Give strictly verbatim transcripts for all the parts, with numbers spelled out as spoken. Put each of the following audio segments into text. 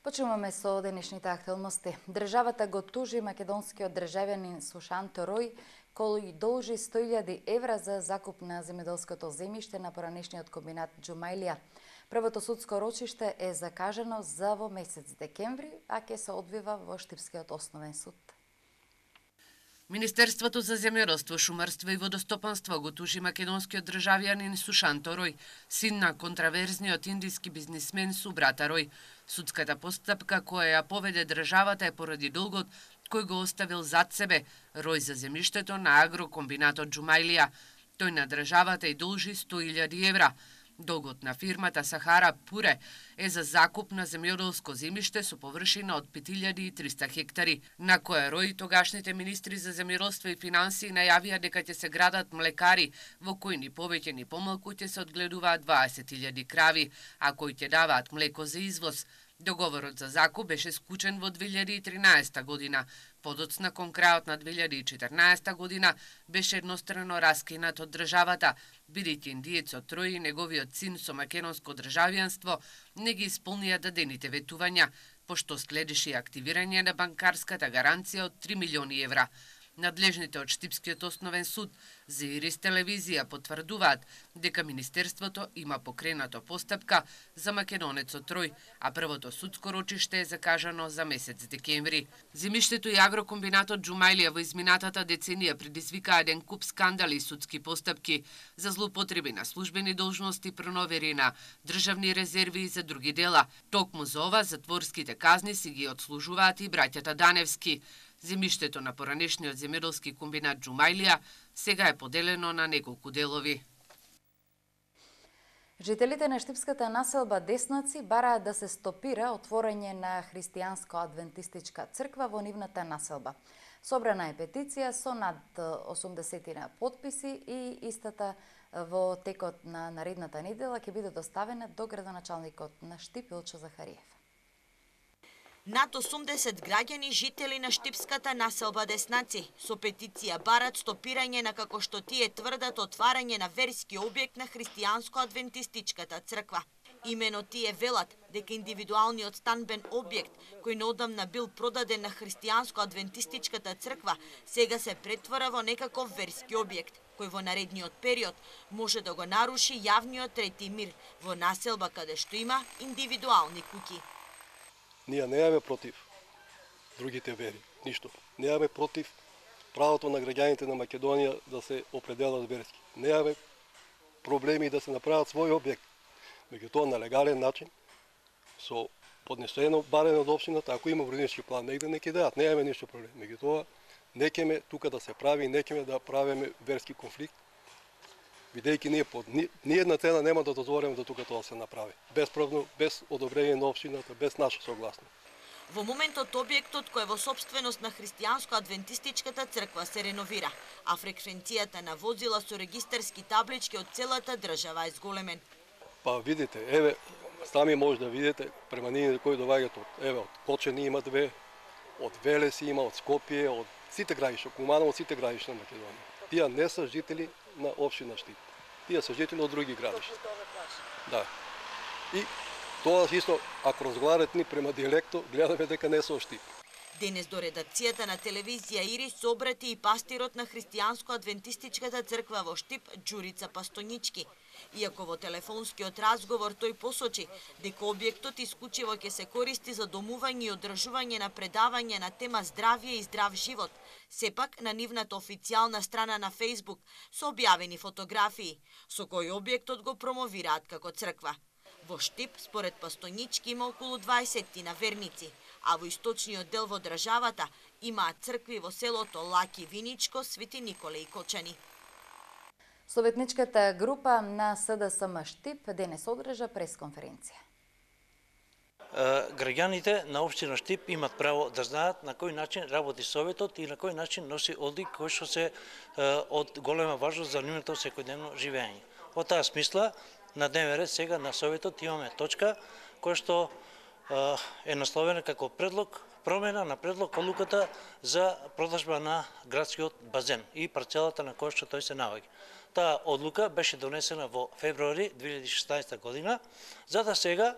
Почнуваме со денешните актуелности. Државата го тужи македонскиот државјанин Сушанто Рој, кој должи сто илјади евра за закуп на земјоделското земјиште на поранешниот комбинат Џумаилија. Првото судско рочиште е закажано за во месец декември, а ќе се одвива во Штипскиот основен суд. Министерството за земјоделство, шумарство и водостопанство го тужи македонскиот државјанин Сушанто Рој, син на контраверзниот индиски бизнисмен Субрата Рој. Судската постапка која ја поведе државата е поради долгот кој го оставил зад себе Рој за земјиштето на агрокомбинатот Џумаилија. Тој на државата и должи сто илјади евра. Долгот на фирмата Сахара Пуре е за закуп на земјоделско земјиште со површина од пет илјади и триста хектари, на која Рој и тогашните министри за земјоделство и финансии најавија дека ќе се градат млекари, во кои ни повеќе ни помалку ќе се одгледуваат дваесет илјади крави, а кои ќе даваат млеко за извоз. Договорот за закуп беше склучен во две илјади и тринаесета година. Подоцна кон крајот на две илјади и четрнаесета година беше еднострано раскинат од државата, бидејќи индиецот Рој и неговиот син со македонско државјанство не ги исполнија дадените ветувања, пошто следеше активирање на банкарската гаранција од три милиони евра. Надлежните од Штипскиот основен суд за Ирис телевизија потврдуваат дека Министерството има покренато постапка за македонецот Рој, а првото судско рочиште е закажано за месец декември. Земјиштето и агрокомбинатот Џумаилија во изминатата деценија предизвикаа еден куп скандали и судски постапки за злоупотреби на службени должности, проневери на државни резерви и за други дела. Токму за ова затворските казни си ги отслужуваат и браќата Даневски. Земјиштето на поранешниот земјоделски комбинат Џумаилија сега е поделено на неколку делови. Жителите на штипската населба Деснаци бараат да се стопира отворање на христијанско-адвентистичка црква во нивната населба. Собрана е петиција со над осумдесет потписи и истата во текот на наредната недела ќе биде доставена до градоначалникот на Штип Илчо Захариев. Над осумдесет граѓани жители на штипската населба Деснаци со петиција барат стопирање на, како што тие тврдат, отварање на верски објект на христијанско-адвентистичката црква. Имено тие велат дека индивидуалниот станбен објект, кој неодамна бил продаден на христијанско-адвентистичката црква, сега се претвора во некаков верски објект, кој во наредниот период може да го наруши јавниот трети мир во населба каде што има индивидуални куќи. Ние неаме против другите вери, ништо. Неаме против правото на граѓаните на Македонија да се определат верски. Неаме проблеми да се направат свој објект, меѓутоа на легален начин, со поднесено барење од општината, ако има урбанистички план, негде не ќе дадат, неаме ништо проблем. Меѓутоа, не ќеме тука да се прави, не ќеме да правиме верски конфликт, бидејќи ние под ни, ни една цена нема да дозволиме да тука тоа се направи. Бесправно, без одобрение на општината, без наша согласност. Во моментот објектот кој е во собственост на христијанско-адвентистичката црква се реновира, а фреквенцијата на возила со регистарски таблички од целата држава е зголемен. Па видите, еве, сами може да видите преманините кои доаѓаат од, еве, од Кочани има две, од Велес има, од Скопје, од сите граѓишта, Куманово, од сите граѓишта на Македонија. Тие не се жители на општина Штип. Тие се жители од други градишта. Да. И тоа исто, ако разговарат ни према диалекто, гледаме дека не се од Штип. Денес до редакцијата на телевизија Ирис се обрати и пастирот на христијанско-адвентистичката црква во Штип, Џурица Пастонички. Иако во телефонскиот разговор тој посочи дека објектот исклучиво ќе се користи за домување и одржување на предавање на тема здравје и здрав живот, сепак на нивната официјална страна на Фејсбук се објавени фотографии, со кои објектот го промовираат како црква. Во Штип, според Пастонички, има околу дваесет на верници, а во источниот дел во државата имаат цркви во селото Лаки Виничко, Свети Николе и Кочани. Советничката група на СДСМ Штип денес одржа пресконференција. Граѓаните на општина Штип имат право да знаат на кој начин работи советот и на кој начин носи одлик кој што се од голема важност за нивното секојдневно живење. Во таа смисла, на дневен ред сега на советот имаме точка која што е насловена како предлог промена на предлог одлуката за продажба на градскиот базен и парцелата на која што тој се наоѓа. Таа одлука беше донесена во февруари две илјади и шеснаесета година, за да сега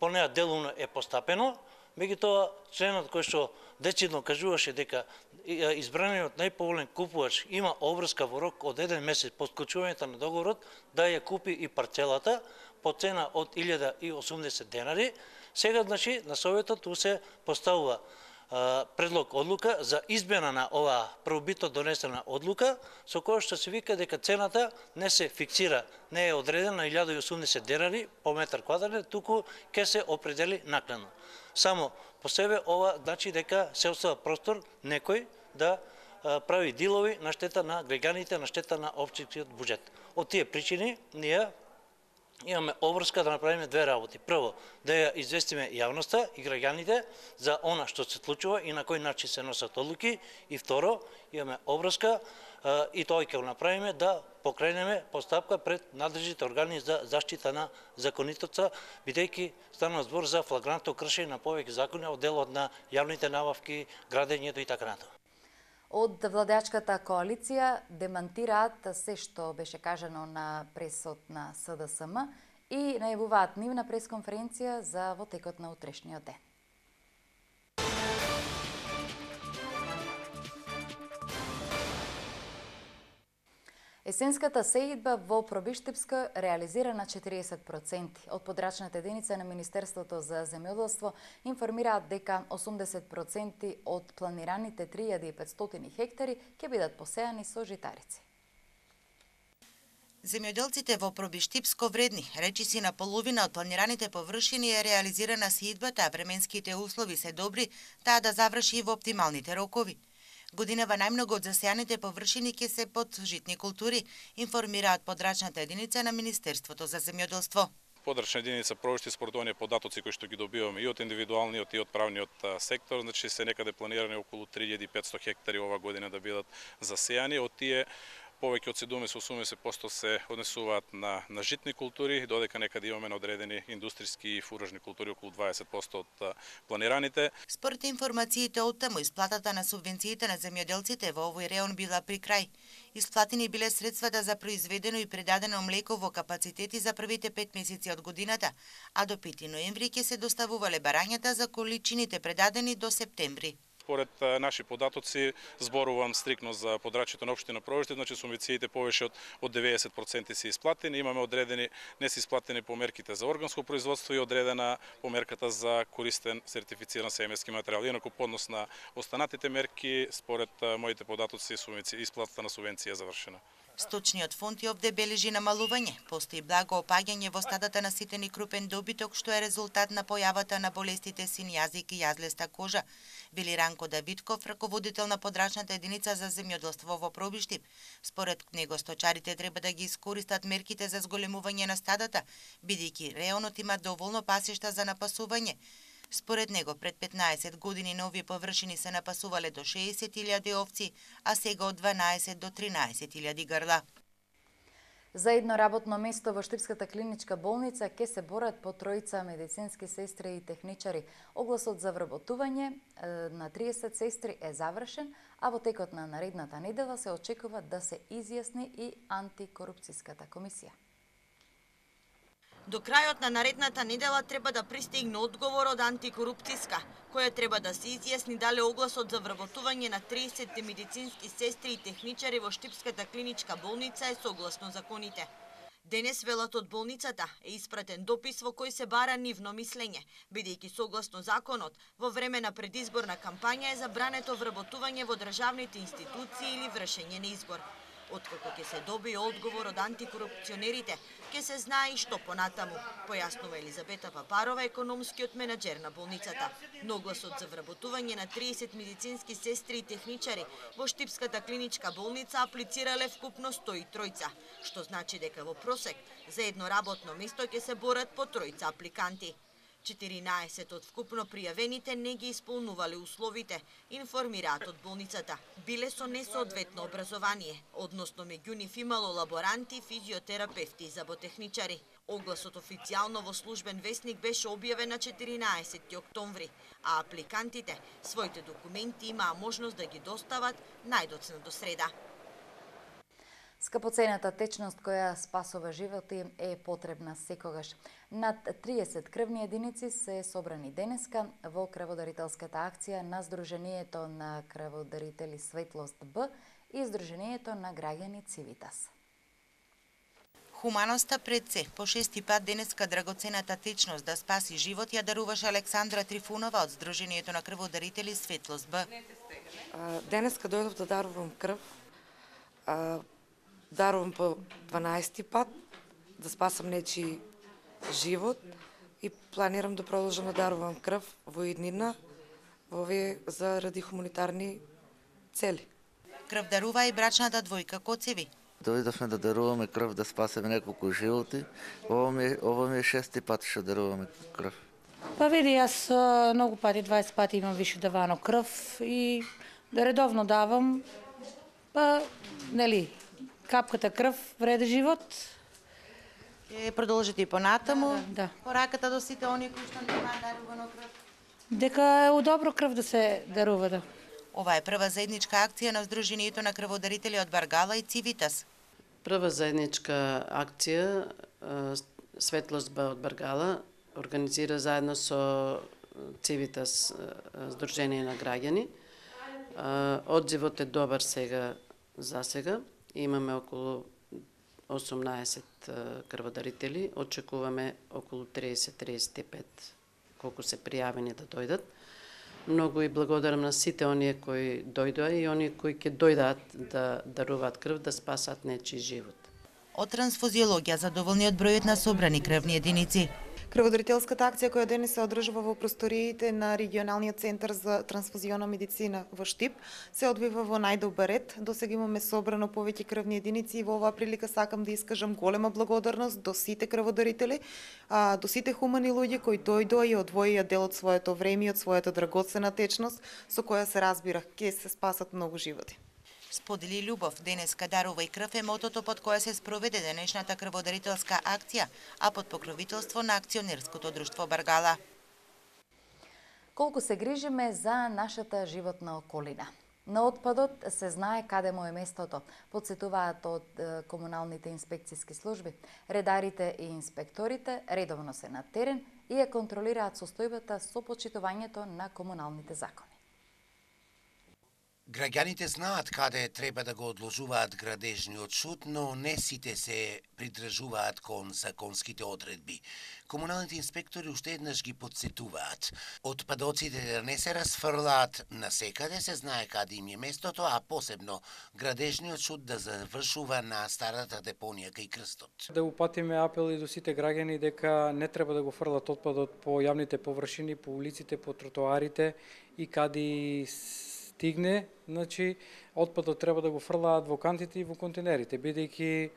по неа делумно е постапено, меѓутоа членот кој што децидно кажуваше дека избраниот најповолен купувач има обврска во рок од еден месец по склучувањето на договорот да ја купи и парцелата по цена од илјада и осумдесет денари, сега значи на Советот ту се поставува предлог одлука за измена на оваа првобитно донесена одлука, со која што се вика дека цената не се фиксира, не е одредена на илјада и осумдесет денари по метар квадратен, туку ќе се определи накнадно. Само по себе ова значи дека се остава простор некој да прави дилови на штета на граѓаните, на штета на општинскиот буџет. Од тие причини ние имаме обврска да направиме две работи. Прво, да ја известиме јавноста и граѓаните за она што се случува и на кој начин се носат одлуки. И второ, имаме обврска и тоа ќе го направиме да покренеме постапка пред надлежните органи за заштита на законитоста, бидејќи станува збор за флагрантно кршење на повеќе закони од делот на јавните набавки, градењето и така натаму. Од владеачката коалиција демантираат се што беше кажано на пресот на С Д С М и најавуваат нивна пресконференција за во текот на утрешниот ден. Есенската сеидба во Пробиштипска реализира на четириесет проценти. Од подрачната единица на Министерството за земјоделство информираат дека осумдесет проценти од планираните три илјади и петстотини хектари ќе бидат посејани со житарици. Земјоделците во Пробиштипско вредни, речиси на половина од планираните површини е реализирана сеидбата, а временските услови се добри, таа да заврши во оптималните рокови. Годинава најмногу од засејаните површини ќе се под житни култури, информираат подрачната единица на Министерството за земјоделство. Подрачна единица Пробиштип според оние податоци кои што ги добиваме и од индивидуалниот и од правниот сектор, значи се некаде планирани околу три илјади и петстотини хектари ова година да бидат засејани. Од тие повеќе од седумдесет до осумдесет проценти се однесуваат на, на житни култури, додека некаде имаме на одредени индустријски и фуражни култури околу дваесет проценти од планираните. Според информациите од таму, исплатата на субвенциите на земјоделците во овој реон била при крај. Исплатени биле средствата за произведено и предадено млеко во капацитети за првите пет месеци од годината, а до пети ноември ќе се доставувале барањата за количините предадени до септември. Според наши податоци, зборувам стрикно за подрачјето на општина Пробиштип, значи субвенциите повеќе од, од деветдесет проценти се исплатени, имаме одредени не се исплатени померките за органско производство и одредена померката за користен сертифициран семејски материјал. Инаку поднос на останатите мерки, според моите податоци, исплатата на субвенција е завршена. Сточниот фонд и овде бележи намалување. Постои благо опаѓање во стадата на ситен и крупен добиток, што е резултат на појавата на болестите син јазик и јазлеста кожа, вели Ранко Давидков, раководител на подрачната единица за земјоделство во Пробиштип. Според него сточарите треба да ги искористат мерките за зголемување на стадата, бидејќи реонот има доволно пасишта за напасување. Според него, пред петнаесет години на овие површини се напасувале до шеесет илјади овци, а сега од дванаесет до тринаесет илјади грла. За едно работно место во Штипската клиничка болница ќе се борат по тројца медицински сестри и техничари. Огласот за вработување на триесет сестри е завршен, а во текот на наредната недела се очекува да се изјасни и антикорупцијската комисија. До крајот на наредната недела треба да пристигне одговор од антикорупцијска, која треба да се изјасни дали огласот за вработување на триесет медицински сестри и техничари во Штипската клиничка болница е согласно законите. Денес, велат од болницата, е испратен допис во кој се бара нивно мислење, бидејќи согласно законот, во време на предизборна кампања е забрането вработување во државните институции или вршење на избор. Откако ќе се добие одговор од антикорупционерите, ќе се знае и што понатаму, појаснува Елизабета Папарова, економскиот менаџер на болницата. Но огласот за вработување на триесет медицински сестри и техничари во Штипската клиничка болница аплицирале вкупно сто и тројца, што значи дека во просек за едно работно место ќе се борат по тројца апликанти. четиринаесет од вкупно пријавените не ги исполнувале условите, информираат од болницата. Биле со несоодветно образование, односно меѓу нив имало лаборанти, физиотерапевти и заботехничари. Огласот официјално во службен весник беше објавен на четиринаесети октомври, а апликантите своите документи имаа можност да ги достават најдоцна до среда. Скапоцената течност која спасува животи е потребна секогаш. Над триесет крвни единици се собрани денеска во крводарителската акција на Сдруженијето на крводарители Светлост Б и Сдруженијето на граѓани Цивитас. Хуманоста пред се. По шести пат денеска драгоцената течност да спаси живот ја даруваше Александра Трифунова од Сдруженијето на крводарители Светлост Б. Денеска дојдов да дарувам крв. Дарувам по дванаести пат да спасам нечи живот и планирам да продолжам да дарувам крв во иднина во овие заради хуманитарни цели. Крв дарува и брачната двојка Коцеви. Дојдовме да даруваме крв да спасеме неколку животи. Ова ми е, ова ми е шести пат што даруваме крв. Па види, јас многу пати, дваесет пати имам више давано крв и да редовно давам, па, нели, капката крв вреди живот. Е, продолжите и понатаму. Да. Пораката до сите оние кои што немаат дарувано крв. Дека е удобро крв да се дарува, да. Ова е прва заедничка акција на Сдруженијето на крводарители од Баргала и Цивитас. Прва заедничка акција Светлост Б од Баргала организира заедно со Цивитас Сдружение на граѓани. Одзивот е добар сега за сега. Имаме околу осумнаесет крводарители. Очекуваме околу триесет до триесет и пет колку се пријавени да дојдат. Многу и благодарам на сите оние кои дојдоа и оние кои ќе дојдат да даруваат крв да спасат нечи живот. Од трансфузиологија задоволни од бројот на собрани крвни единици. Крводарителската акција која денес се одржува во просториите на регионалниот центар за трансфузиона медицина во Штип се одвива во најдобар ред. Досега имаме собрано повеќе крвни единици и во оваа прилика сакам да искажам голема благодарност до сите крводарители, а, до сите хумани луѓе кои дојдоа и одвоија дел од своето време и од својата драгоцена течност со која се разбира ќе се спасат многу животи. Сподели љубов, денеска дарува и крв е мотото под кое се спроведе денешната крводарителска акција, а под покровителство на акционерското друштво Баргала. Колку се грижиме за нашата животна околина. На отпадот се знае каде му е местото, подсетуваат од комуналните инспекцијски служби. Редарите и инспекторите редовно се на терен и ја контролираат состојбата со почитувањето на комуналните закони. Граѓаните знаат каде треба да го одложуваат градежниот шут, но не сите се придржуваат кон законските одредби. Комуналните инспектори уште еднаш ги подсетуваат. Отпадоците да не се расфрлаат насекаде, се знае каде им е местото, а посебно градежниот шут да завршува на старата депонија кај крстот. Да упатиме апели до сите граѓани дека не треба да го фрлат отпадот по јавните површини, по улиците, по тротоарите и каде стигне, значи отпадот треба да го фрлаат во кантите и во контейнерите, бидејќи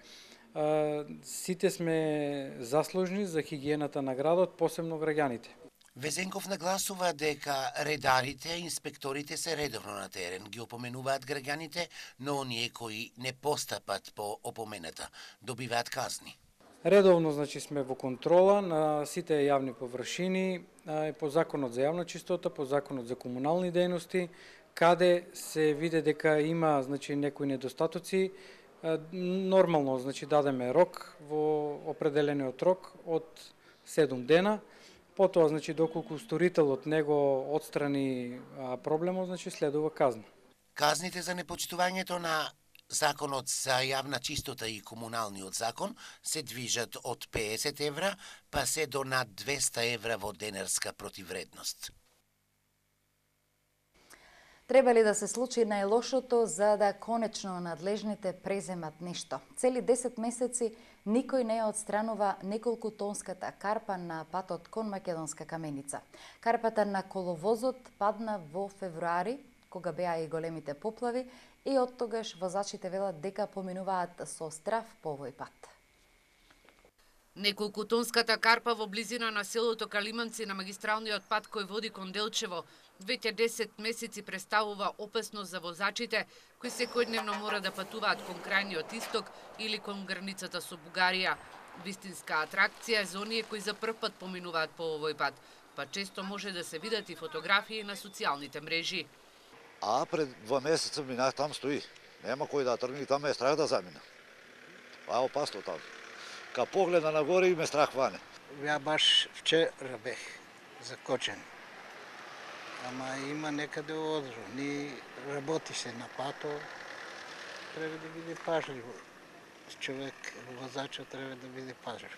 сите сме заслужни за хигиената на градот, посебно граѓаните. Везенков нагласува дека редарите, инспекторите се редовно на терен, ги опоменуваат граѓаните, но оние кои не постапат по опомената добиваат казни. Редовно, значи, сме во контрола на сите јавни површини, по законот за јавна чистота, по законот за комунални дејности, каде се види дека има, значи, некои недостатоци, нормално, значи, дадеме рок во определениот рок од седум дена. Потоа, значи, доколку сторителот него отстрани проблемот, значи, следува казна. Казните за непочитувањето на Законот за јавна чистота и комуналниот закон се движат од песет евра, па се до над двеста евра во денарска противредност. Треба ли да се случи најлошото за да конечно надлежните преземат нешто? Цели десет месеци никој не отстранува неколку тонската карпа на патот кон Македонска Каменица. Карпата на коловозот падна во февруари, кога беа и големите поплави, и од тогаш возачите велат дека поминуваат со страв по овој пат. Неколку тонската карпа во близина на селото Калиманци на магистралниот пат кој води кон Делчево веќе десет месеци представува опасност за возачите кои секојдневно мора да патуваат кон крајниот исток или кон границата со Бугарија. Вистинска атракција за оние кои за прв пат поминуваат по овој пат, па често може да се видат и фотографии на социјалните мрежи. А пред два месеца минах, там стои. Нема кој да тргне, там е страх да замина. а опасно таму. Ка погледа нагоре и ме страх ване. Ја баш вчера бех закочен. Ама има некаде одру. Ни работи се на пато. Треба да биде пажлив. Човек, возачот треба да биде пажлив.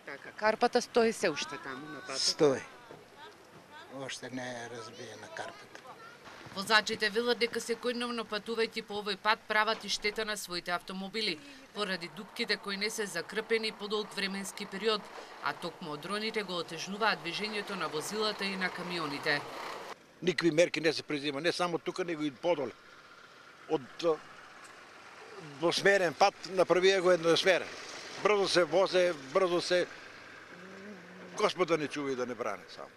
Така, карпата стои се уште таму на патот? Стои. Оште не е разбиена карпата. Возачите велат дека секојдневно патувајќи по овој пат прават и штета на своите автомобили, поради дупките кои не се закрпени по долг временски период, а токму одроните го отежнуваат движењето на возилата и на камионите. Никакви мерки не се презима, не само тука, него и подоле. Од двосмерен пат направија го едносмерен. Брзо се возе, брзо се... Господ да не чува и да не бране само.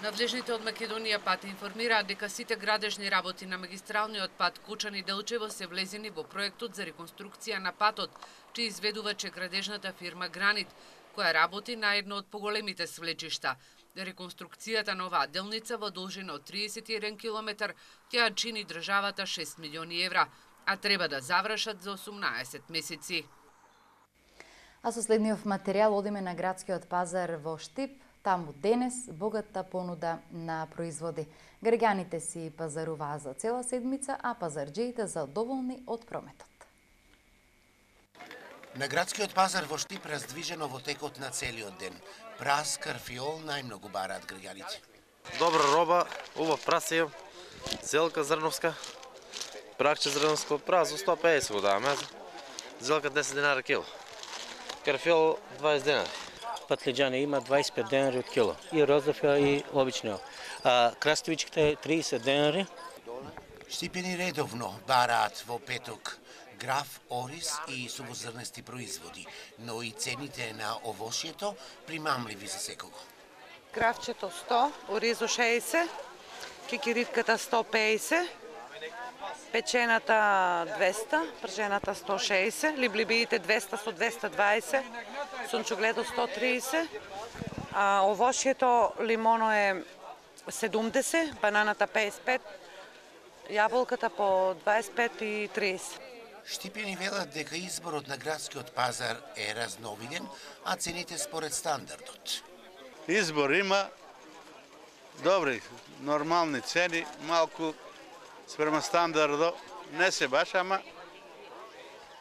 Надлежните од Македонија пат информираат дека сите градежни работи на магистралниот пат Кочани-Делчево се влезени во проектот за реконструкција на патот, чиј изведуваче градежната фирма Гранит, која работи на едно од поголемите свлечишта. Реконструкцијата на оваа делница во должина од триесет и еден километар ќе чини државата шест милиони евра, а треба да завршат за осумнаесет месеци. А со следниот материјал одиме на градскиот пазар во Штип. Таму денес богата понуда на производи. Граѓаните си пазаруваа за цела седмица, а пазарџиите задоволни од прометот. На градскиот пазар во Штип раздвижено во текот на целиот ден. Прас, карфиол најмногу бараат граѓаните. Добра роба, убав прас имам, зелка зрновска, пракче зрновско, прас за сто педесет го даваме, зелка десет денари кило, карфиол дваесет денари. Патлиџани има дваесет и пет денари од кило, и розов и обичниот. А краставичките триесет денари. Штипени редовно бараат во петок граф, ориз и сувозрнести производи, но и цените на овошјето примамливи за секого. Графчето сто, оризо шеесет, кикиритката сто пеесет, печената двеста, пржената сто шеесет, либлибиите двеста со двеста дваесет, сунчугледо сто триесет, а овошјето лимоно е седумдесет, бананата пеесет и пет, јаболката по дваесет и пет и триесет. Штипени велат дека изборот на градскиот пазар е разновиден, а цените според стандардот. Избор има добри, нормални цени, малку спрема стандардот, не се баш, ама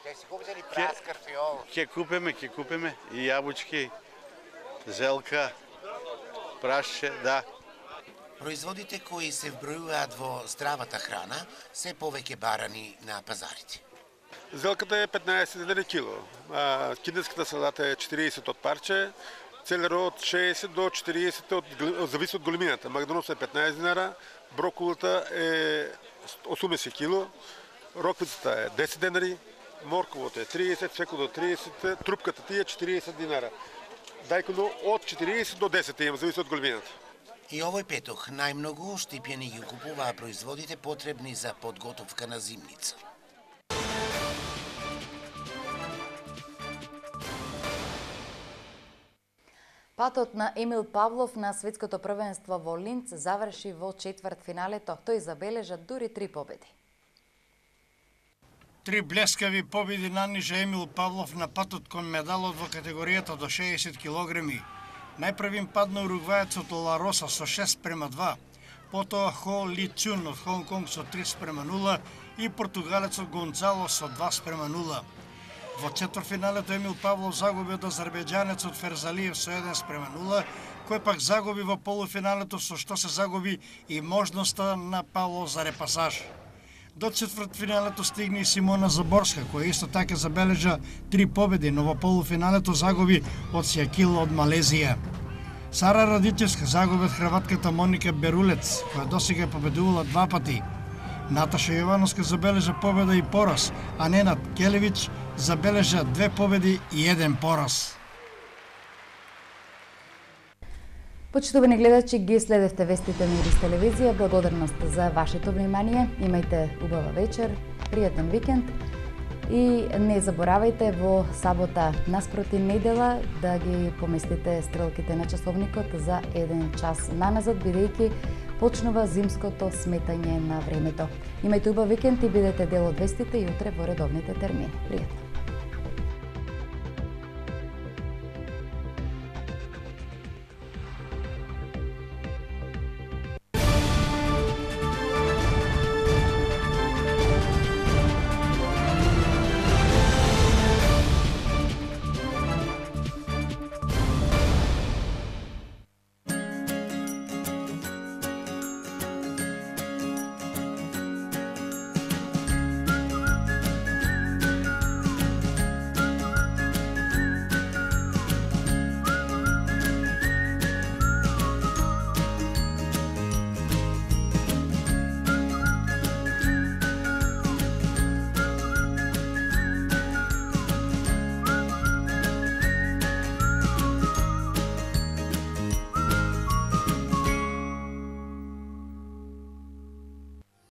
Ќе си купите ли прас, карфиол? Ќе купиме, ќе купиме и јабучки, зелка, прашче, да. Производите кои се вбројуваат во здравата храна се повеќе барани на пазарите. Зелката е петнаесет денари кило, а кинеската салата е четириесет од парче, целерот од шеесет до четириесет од зависи од големината. Магданосот е петнаесет динара, брокулата е осумдесет кило, роквицата е десет денари, морковото е триесет, цвекото триесет, трупката ти е четириесет динара. Дајконо од четириесет до десет има, зависи од големината. И овој петок најмногу штипјани ги купуваа производите потребни за подготовка на зимница. Патот на Емил Павлов на светското првенство во Линц заврши во четвртфиналето. Тој забележа дури три победи. Три блескави победи нанижа Емил Павлов на патот кон медалот во категоријата до шеесет килограми. Најпрвим падна уругваецот Лароса со шест према два, потоа Хо Ли Цун од Хонг Конг со три спрема нула и португалецот Гонцало со два спрема нула. Во четвртфиналето Емил Павлов загуби од азербејџанецот Ферзалиев со еден спрема нула, кој пак загуби во полуфиналето, со што се загуби и можноста на Павлов за репасаж. До четвртфиналето стигна и Симона Заборска, која исто така забележа три победи, но во полуфиналето загуби од Сјакил од Малезија. Сара Радичевска загуби од хрватката Моника Берулец, која досега победувала два пати. Наташа Јовановска забележа победа и пораз, а Ненад Келевич забележа две победи и еден пораз. Почитувани гледачи, ги следевте вестите на Ирис телевизија. Благодарност за вашето внимание. Имајте убава вечер, пријатен викенд и не заборавајте во сабота наспроти недела да ги поместите стрелките на часовникот за еден час наназад, бидејќи почнува зимското сметање на времето. Имајте убав викенд и бидете дел од вестите и утре во редовните термини. Пријатно.